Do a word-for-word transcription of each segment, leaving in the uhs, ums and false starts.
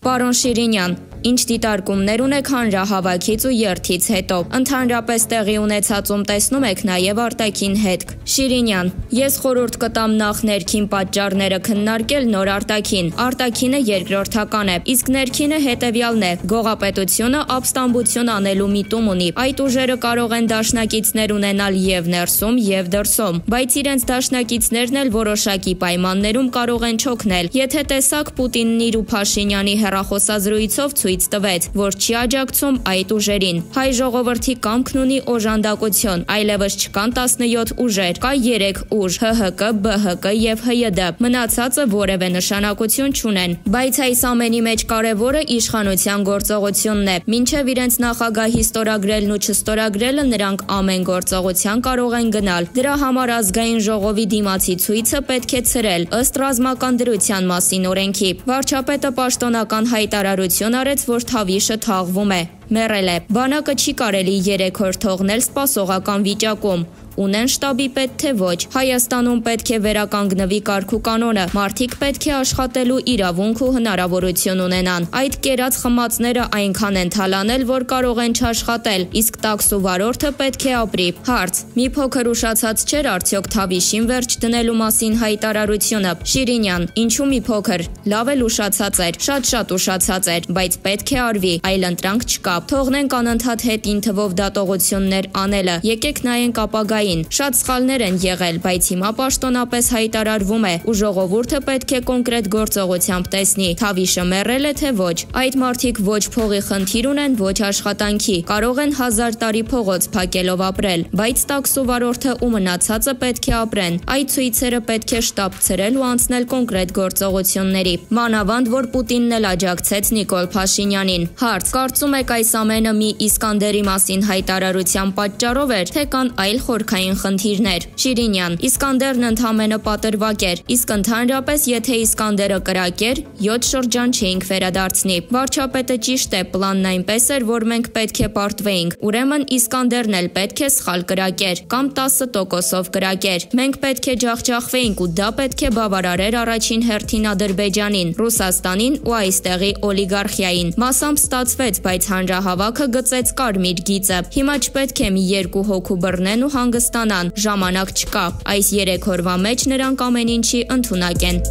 Պարոն Շիրինյան, ինչ դիտարկումներ ունեք հանրահավաքից ու երթից հետո, ընդհանրապես տեղի ունեցածում տեսնում եք նաև արտաքին հետք։ Շիրինյան, ես խորհուրդ կտամ նախ ներքին պատճառները քննարկել, նոր արտաքին։ Արտաքինը երկրորդական է, իսկ ներքինը հետևյալն է՝ գողապետությունը ապստամբություն անելու միտում ունի։ Այդ ուժերը կարող են դաշնակիցներ ունենալ եւ ներսում, եւ դրսում, բայց իրենց դաշնակիցներն էլ որոշակի պայմաններում կարող են չօգնել։ Եթե տեսակ Պուտինն իր ու Փաշինյանի հեռախոսազրույցով ցույց տվեց, որ չի աջակցում այդ ուժերին։ Հայ ժողովրդի կամքն ունի օժանդակություն, այլևս չկան տասնյոթ ուժեր, կա երեք ուժ՝ Հ Հ Կ, B H K եւ H Y D, մնացածը որևէ նշանակություն չունեն։ Բայց այս ամենի մեջ կարևորը իշխանության գործողությունն է։ Մինչև իրենց նախագահի ստորագրելն ու չստորագրելը նրանք ամեն գործողության կարող են գնալ։ Դրա համար ազգային ժողովի դիմացի ցույցը պետք է ցրել ըստ ռազմական դրության մասին օրենքի։ Վարչապետը պաշտոնական հայտարարություն արեց, որ Թավիշը թաղվում է, մեռել է։ Բանակը չի կարելի երեք օր թողնել սպասողական վիճակում։ Ունեն շտաբի պետ թե ոչ։ Հայաստանում պետք է վերականգնվի կարգ ու կանոնը։ Մարդիկ պետք է աշխատելու իրավունք ու հնարավորություն ունենան։ Այդ կերած խմածները այնքան են թալանել, որ կարող են չաշխատել, իսկ տաքս ու վարորդը պետք է ապրի։ Հարց. մի փոքր ուշացած չէր արդյոք Թավիշին վերջ դնելու մասին հայտարարությունը։ Շիրինյան, ինչու մի փոքր, լավ էլ ուշացած էր, շատ-շատ ուշացած էր, բայց պետք է արվի, այլ ընտրանք չկա։ Թողնենք անընդհատ հետին թվով դատողություններ անելը։ Եկեք նայենք ապագա Շատ սխալներ են եղել, բայց հիմա պաշտոնապես հայտարարվում է ու ժողովուրդը պետք է կոնկրետ գործողությամբ տեսնի, Թավիշը մեռել է թե ոչ։ Այդ մարդիկ ոչ փողի խնդիր ունեն, ոչ աշխատանքի, կարող են հազար տարի փողոց փակելով ապրել, բայց տաքս ու վարորդը ու մնացածը պետք է ապրեն։ Այդ ցույցերը պետք է շտապ ցրել ու անցնել կոնկրետ գործողությունների։ Մանավանդ, որ Պուտինն էլ աջակցեց Նիկոլ Փաշինյանին։ Հարց. կարծում եք այս ամենը մի Իսկանդերի մասին հայտարարության պատճառով էր, թե կան այլ խորքային խնդիրներ։ Շիրինյան, Իսկանդերն ընդհանրապես պատրվակ էր, իսկ ընդհանրապես եթե Իսկանդերը կրակ էր, յոթ շրջան չէինք վերադարձնի։ Վարչապետը ճիշտ է, պլանն այնպես էր, որ մենք պետք է պարտվեինք, ուրեմն Իսկանդերն էլ պետք է սխալ կրակ էր, կամ տասը տոկոսով կրակ էր։ Մենք պետք է ջախջախվեինք ու դա պետք է բավարարեր առաջին հերթին Ադրբեջանին, Ռուսաստանին ու այստեղի օլիգարխիային։ Մասամբ ստացվեց, բայց հանրահավաքը գծեց կարմիր գիծը։ Հիմա չպետք է մի երկու հոգու բռնեն ու հանգստանան, ժամանակ չկա։ Այս երեք օրվա մեջ նրանք ամեն ինչի ընդունակ են։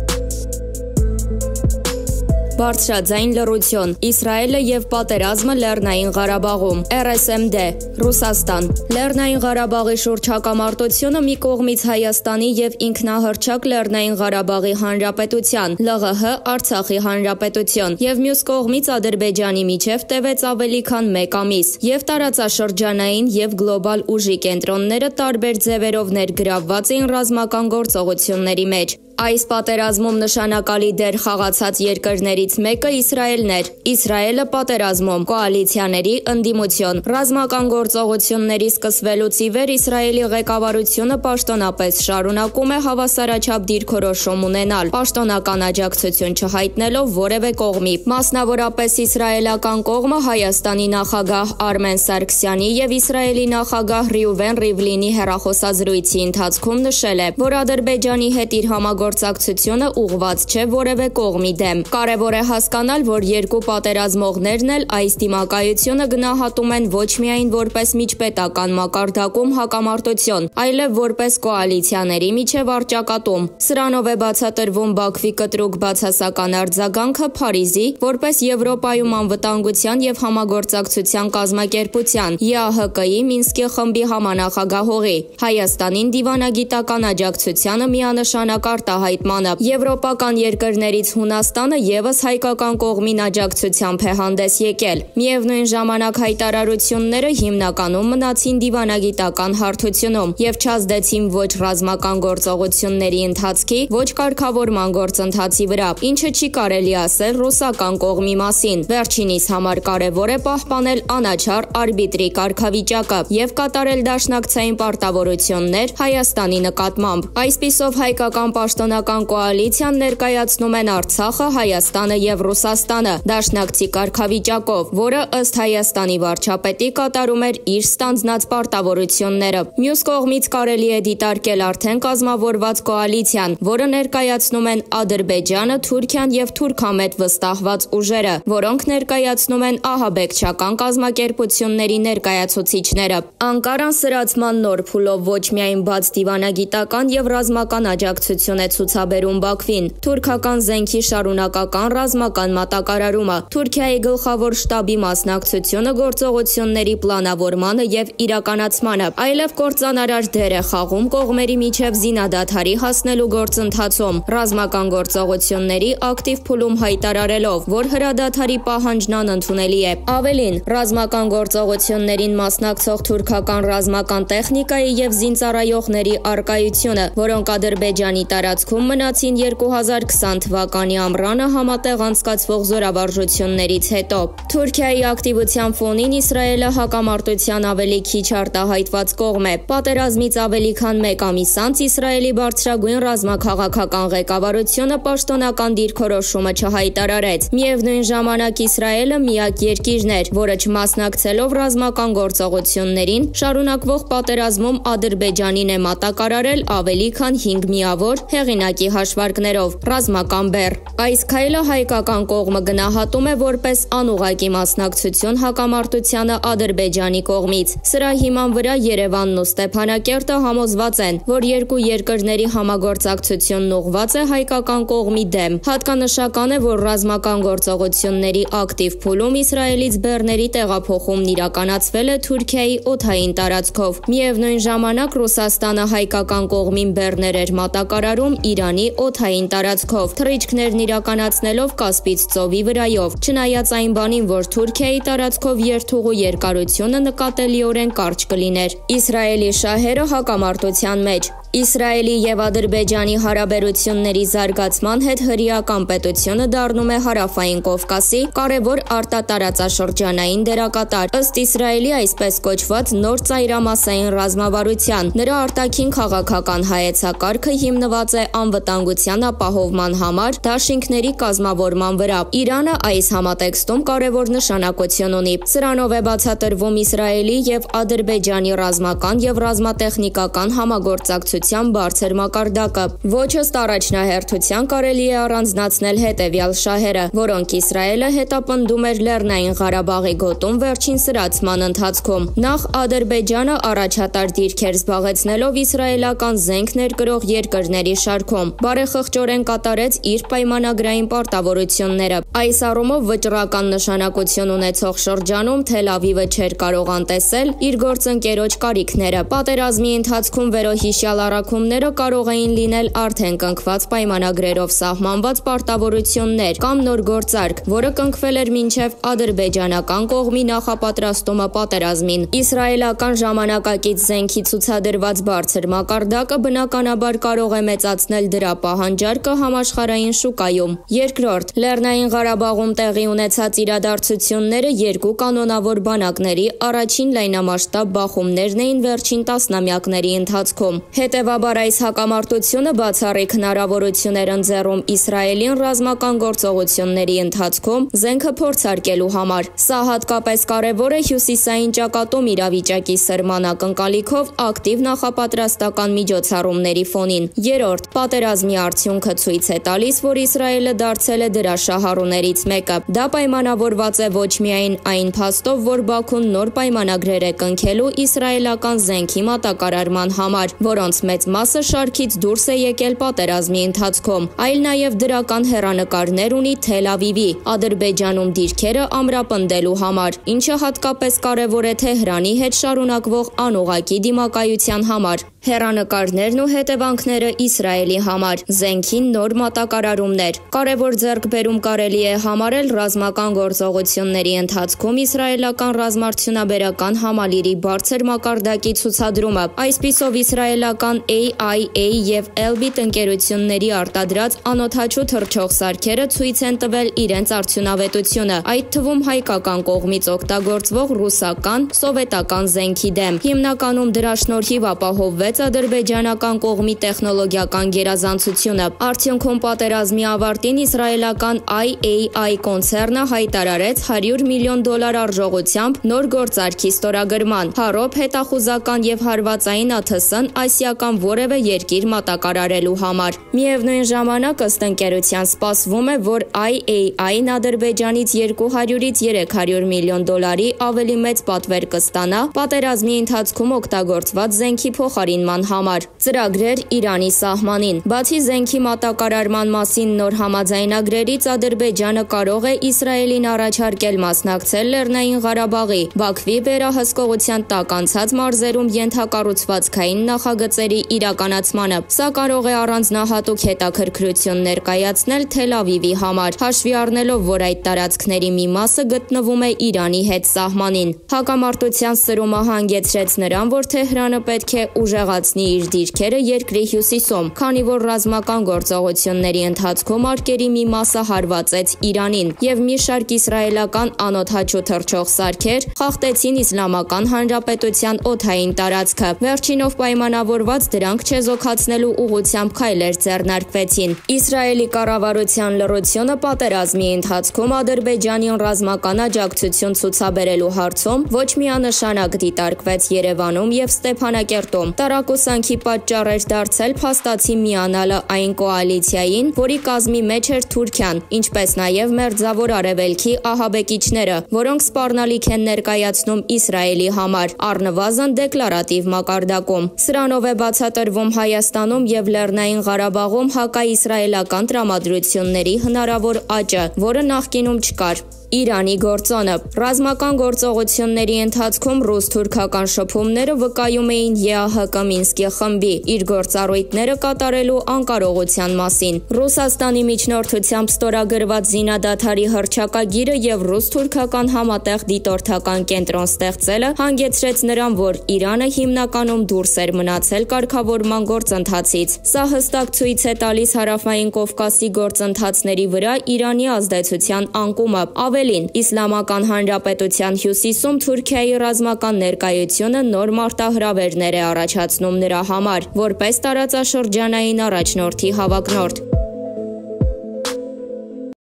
Բարձրաձայն լռություն։ Իսրայելը եւ պատերազմը Լեռնային Ղարաբաղում։ R S M D Ռուսաստան։ Լեռնային Ղարաբաղի շուրջ հակամարտությունը մի կողմից Հայաստանի եւ ինքնահռչակ Լեռնային Ղարաբաղի Հանրապետության, L G H Արցախի Հանրապետություն եւ մյուս կողմից Ադրբեջանի միջև տևեց ավելի քան մեկ ամիս եւ տարածաշրջանային եւ գլոբալ ուժի կենտրոնները տարբեր ձևերով ներգրավված էին ռազմական գործողությունների մեջ։ Այս պատերազմում նշանակալի դեր խաղացած երկրներից մեկը Իսրայելն էր։ Իսրայելը պատերազմում կոալիցիաների ընդդիմություն։ Ռազմական գործողությունների սկսվելուց ի վեր Իսրայելի ղեկավարությունը պաշտոնապես շարունակում է հավասարաչափ դիրքորոշում ունենալ, պաշտոնական աջակցություն չհայտնելով որևէ կողմի։ Մասնավորապես իսրայելական կողմը Հայաստանի նախագահ Արմեն Սարգսյանի եւ Իսրայելի նախագահ Ռյուվեն Ռիվլինի հեռախոսազրույցի ընթացքում նշել է, որ Ադրբեջանի հետ իր համագործակցությունը ուղղված չէ որևէ կողմի դեմ։ Կարևոր է հասկանալ, որ երկու պատերազմողներն էլ այս դիմակայությունը գնահատում են ոչ միայն որպես միջպետական մակարդակում հակամարտություն, այլև որպես կոալիցիաների միջև առճակատում։ Սրանով է բացատրվում Բաքվի կտրուկ բացասական արձագանքը Փարիզի, որպես Եվրոպայում անվտանգության եւ համագործակցության կազմակերպության Ե A H K-ի Մինսկի խմբի համանախագահողի, Հայաստանին դիվանագիտական աջակցությանը միանշանակ արտահայտմանը։ Եվրոպական երկրներից Հունաստանը եւս հայկական կողմին աջակցությամբ է հանդես եկել։ Միևնույն ժամանակ հայտարարությունները հիմնականում մնացին դիվանագիտական հարթությունում եւ չազդեցին ոչ ռազմական գործողությունների ընթացքի, ոչ կարգավորման գործընթացի վրա, ինչը չի կարելի ասել ռուսական կողմի մասին։ Վերջինիս համար կարևոր է պահպանել անաչառ արբիտրի կարգավիճակը եւ կատարել դաշնակցային պարտավորություններ Հայաստանի նկատմամբ։ Այսպիսով հայկական պաշտոն պաշտոնական կոալիցիան ներկայացնում են Արցախը, Հայաստանը եւ Ռուսաստանը դաշնակցի կարգավիճակով, որը ըստ Հայաստանի վարչապետի կատարում էր իր ստանձնած պարտավորությունները։ Մյուս կողմից կարելի է դիտարկել արդեն կազմավորված կոալիցիան, որը ներկայացնում են Ադրբեջանը, Թուրքիան եւ թուրքամետ վստահված ուժերը, որոնք ներկայացնում են ահաբեկչական կազմակերպությունների ներկայացուցիչները։ Անկարան սրացման նոր փուլով ոչ միայն բաց դիվանագիտական եւ ռազմական աջակցություն է ցուցաբերում Բաքվին, թուրքական զենքի շարունակական ռազմական մատակարարումը, Թուրքիայի գլխավոր շտաբի մասնակցությունը գործողությունների պլանավորմանը եւ իրականացմանը, այլև կործանարար դեր է խաղում կողմերի միջև զինադադարի հասնելու գործընթացում, ռազմական գործողությունների ակտիվ փուլում հայտարարելով, որ հրադադարի պահանջն անընդունելի է։ Ավելին, ռազմական գործողություններին մասնակցող թուրքական ռազմական տեխնիկայի եւ զինծառայողների արկայությունը, որոնք Ադրբեջանի տարածքում մնացին երկու հազար քսան թվականի ամռանը համատեղ անցկացվող զորավարժություններից հետո։ Թուրքիայի ակտիվության ֆոնին Իսրայելը հակամարտության ավելի քիչ արտահայտված կողմ է։ Պատերազմից ավելի քան մեկ ամիս անց Իսրայելի բարձրագույն ռազմաքաղաքական ղեկավարությունը պաշտոնական դիրքորոշումը չհայտարարեց։ Միևնույն ժամանակ Իսրայելը միակ երկիրն էր, որը չմասնակցելով ռազմական գործողություններին, շարունակվող պատերազմում Ադրբեջանին է մատակարարել ավելի քան հինգ միավոր հեղինակի հաշվարկներով ռազմական բեռ։ Այս քայլը հայկական կողմը գնահատում է որպես անուղղակի մասնակցություն հակամարտությանը Ադրբեջանի կողմից։ Սրա հիման վրա Երևանն ու Ստեփանակերտը համոզված են, որ երկու երկրների համագործակցությունն ուղղված է հայկական կողմի դեմ։ Հատկանշական է, որ ռազմական գործողությունների ակտիվ փուլում Իսրայելից բեռների տեղափոխումն իրականացվել է Թուրքիայի օդային տարածքով։ Միևնույն ժամանակ Ռուսաստանը հայկական կողմին բեռներ էր մատակարարում Իրանի օդային տարածքով, թռիչքներն իրականացնելով Կասպից ծովի վրայով, չնայած այն բանին, որ Թուրքիայի տարածքով երթուղու երկարությունը նկատելիորեն կարճ կլիներ։ Իսրայելի շահերը հակամարտության մեջ։ Իսրայելի եւ Ադրբեջանի հարաբերությունների զարգացման հետ հրեական պետությունը դառնում է Հարավային Կովկասի կարևոր արտատարածաշրջանային դերակատար։ Ըստ Իսրայելի այսպես կոչված նոր ծայրամասային ռազմավարության, նրա արտաքին քաղաքական հայեցակարգը հիմնված է անվտանգության ապահովման համար դաշինքների կազմավորման վրա։ Իրանը այս համատեքստում կարևոր նշանակություն ունի։ Սրանով է բացատրվում Իսրայելի եւ Ադրբեջանի ռազմական եւ ռազմատեխնիկական համագործակցության բարձր մակարդակը։ Ոչ ըստ առաջնահերթության կարելի է առանձնացնել հետևյալ շահերը, որոնք Իսրայելը հետապնդում էր Լեռնային Ղարաբաղի գոտում վերջին սրացման ընթացքում։ Նախ Ադրբեջանը առաջատար դիրքեր զբաղեցնելով իսրայելական զենք ներկրող երկրների շարքում, բարեխղճորեն կատարեց իր պայմանագրային պարտավորությունները։ Այս առումով վճռական նշանակություն ունեցող շրջանում Թել Ավիվը չէր կարող անտեսել իր գործընկերոջ կարիքները։ Պատերազմի ընթացքում վերոհիշյալ առաքումները կարող էին լինել արդեն կնքված պայմանագրերով սահմանված պարտավորություններ կամ նոր գործարք, որը կնքվել էր մինչև ադրբեջանական կողմի նախապատրաստումը պատերազմին։ Իսրայելական ժամանակակից զենքի ցուցադրված բարձր մակարդակը բնականաբար կարող է մեծացնել դրա պահանջարկը համաշխարհային շուկայում։ Երկրորդ, Լեռնային Ղարաբաղում տեղի ունեցած իրադարձությունները երկու կանոնավոր բանակների առաջին լայնամասշտաբ բախումներն էին վերջին տասնամյակների ընթացքում։ Հետևաբար այս հակամարտությունը բացառիկ հնարավորություն էր ընձեռում Իսրայելին ռազմական գործողությունների ընթացքում զենքը փորձարկելու համար։ Սա հատկապես կարևոր է հյուսիսային ճակատում իրավիճակի սրման ակնկալիքով ակտիվ նախապատրաստական միջոցառումների ֆոնին։ Երրորդ, պատերազմի արդյունքը ցույց է տալիս, որ Իսրայելը դարձել է դրա շահառուներից մեկը։ Դա պայմանավորված է ոչ միայն այն փաստով, որ Բաքուն նոր պայմանագրեր է կնքելու իսրայելական զենքի մատակարարման համար, որոնց մեծ մասը շարքից դուրս է եկել պատերազմի ընթացքում, այլ նաև դրական հեռանկարներ ունի Թել Ավիվի, Ադրբեջանում դիրքերը ամրապնդելու համար, ինչը հատկապես կարևոր է Թեհրանի հետ շարունակվող անուղղակի դիմակայության համար։ Հեռանկարներն ու հետևանքները Իսրայելի համար, զենքի նոր մատակարարումներ։ Կարևոր ձեռքբերում կարելի է համարել ռազմական գործողությունների ընթացքում իսրայելական ռազմարդյունաբերական համալիրի բարձր մակարդակի ցուցադրումը։ Այսպիսով իսրայելական A I A եւ Elbit ընկերությունների արտադրած անօդաչու թռչող սարքերը ցույց են տվել իրենց արդյունավետությունը, այդ թվում հայկական կողմից օգտագործվող ռուսական, սովետական զենքի դեմ։ Հիմնականում դրա շնորհիվ ապահովվեց հայտարարեց ադրբեջանական կողմի տեխնոլոգիական գերազանցությունը։ Արդյունքում պատերազմի ավարտին իսրայելական I A I կոնցեռնը հայտարարեց հարյուր միլիոն դոլար արժողությամբ նոր գործարքի ստորագրման։ Հարոբ հետախուզական եւ հարվածային ԱԹՍ-ն ասիական որևէ երկիր մատակարարելու համար։ Միևնույն ժամանակ ըստ ընկերության սպասվում է, որ I A I-ն Ադրբեջանից երկու հարյուրից երեք հարյուր միլիոն դոլարի ավելի մեծ պատվեր կստանա պատերազմի ընթացքում օգտագործված զենքի փոխարինման համար։ Ծրագրեր Իրանի սահմանին։ Բացի զենքի մատակարարման մասին նոր համաձայնագրերից Ադրբեջանը կարող է Իսրայելին առաջարկել մասնակցել Լեռնային Ղարաբաղի, Բաքվի վերահսկողության տակ անցած մարզերում ենթակառուցվածքային նախագծերի իրականացմանը։ Սա կարող է առանձնահատուկ հետաքրքրություն ներկայացնել Թել Ավիվի համար, հաշվի առնելով, որ այդ տարածքների մի մասը գտնվում է Իրանի հետ սահմանին։ Հակամարտության սրումը հանգեցրեց նրան, որ Թեհրանը պետք է ուժեղացնի իր դիրքերը երկրի հյուսիսում, քանի որ ռազմական գործողությունների ընթացքում արկերի մի մասը հարվածեց Իրանին, եւ մի շարք իսրայելական անօդաչու թռչող սարքեր խախտեցին Իսլամական Հանրապետության օդային տարածքը։ Վերջինով պայմանավորված դրանք չեզոքացնելու ուղղությամբ քայլեր ձեռնարկվեցին։ Իսրայելի կառավարության լռությունը պատերազմի ընթացքում Ադրբեջանին ռազմական աջակցություն ցուցաբերելու հարցում ոչ միանշանակ դիտարկվեց Երևանում եւ Ստեփանակերտում։ Տարակուսանքի պատճառ էր դարձել փաստացի միանալը այն կոալիցիային, որի կազմի մեջ էր Թուրքիան, ինչպես նաեւ Մերձավոր Արևելքի ահաբեկիչները, որոնք սպառնալիք են ներկայացնում Իսրայելի համար, առնվազն դեկլարատիվ մակարդակում։ Սրանով է բացատրվում Հայաստանում եւ Լեռնային Ղարաբաղում հակաիսրայելական տրամադրությունների հնարավոր աճը, որը նախկինում չկար։ Իրանի գործոնը։ Ռազմական գործողությունների ընթացքում ռուս-թուրքական շփումները վկայում էին Է Ա Հ Կ Մինսկի խմբի իր գործառույթները կատարելու անկարողության մասին։ Ռուսաստանի միջնորդությամբ ստորագրված զինադադարի հռչակագիրը եւ ռուս-թուրքական համատեղ դիտորդական կենտրոն ստեղծելը հանգեցրեց նրան, որ Իրանը հիմնականում դուրս էր մնացել կարգավորման գործընթացից։ Սա հստակ ցույց է տալիս Հարավային Կովկասի գործընթացների վրա Իրանի ազդեցության անկումը։ Ավելին, Իսլամական Հանրապետության հյուսիսում Թուրքիայի ռազմական ներկայությունը նոր մարտահրավերներ է առաջացնում նրա համար, որպես տարածաշրջանային առաջնորդի հավակնորդ։